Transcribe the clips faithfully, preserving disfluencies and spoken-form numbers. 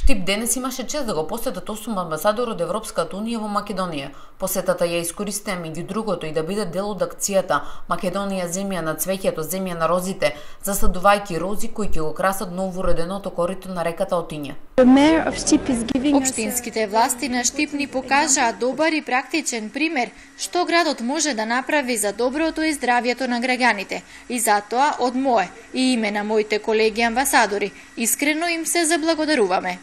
Штип денес имаше чест да го посетат осум амбасадори од Европската унија во Македонија. Посетата ја искористија меѓу другото и да биде дел од акцијата Македонија земја на цвеќето, земја на розите, засадувајќи рози кои ќе го красат новоуреденото корито на реката Отиња. Општинските власти на Штип ни покажаа добар и практичен пример што градот може да направи за доброто и здравјето на граѓаните. И затоа од мое и име на моите колеги амбасадори искрено им се заблагодаруваме.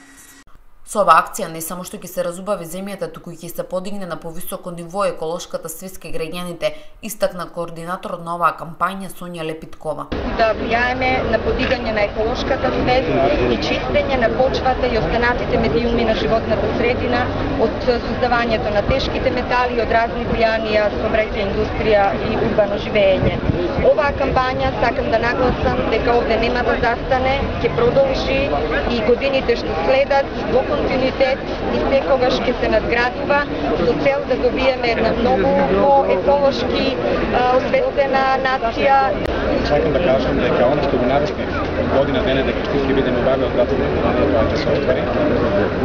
Со оваа акција не само што ќе се разубави земјата, туку и ќе се подигне на повисоко ниво еколошката свест кај граѓаните, истакна координаторот на оваа кампања Сонја Лепиткова. Да влијаеме на подигање на еколошката свест и чистење на почвата и останатите медиуми на животната средина од создавањето на тешките метали, од разни влијанија, сообраќајна индустрија и урбано живење. Оваа кампања сакам да нагласам дека овде нема да застане, ќе продолжи и годините што следат во континуитет и секогаш ќе се надградува со цел да добиеме една многу по-еколошки освестена нација. Сакам да кажам дека оно што го навестме година дене дека Штип ќе биде новајле од градот тоа ќе се оствари.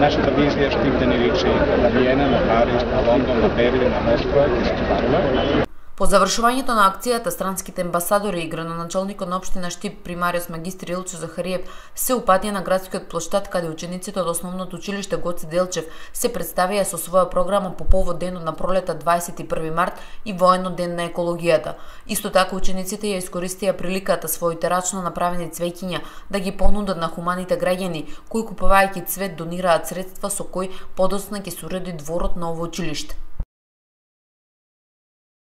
Нашата визија Штип да ни личи на Виена, на Париз, на Лондон, на Берлин, на Москва ќе се остварува. По завршувањето на акцијата, странските амбасадори и градоначалникот на општина Штип примариус магистр Илчо Захариев се упатија на градскиот плоштад каде учениците од основното училиште Гоце Делчев се представија со своја програма по повод денот на пролета дваесет и први март и воено ден на екологијата. Исто така учениците ја искористија приликата своите рачно направени цвеќиња да ги понудат на хуманите граѓани кои купувајќи цвет донираат средства со кои подоцна ќе се уреди дворот на ово училиште.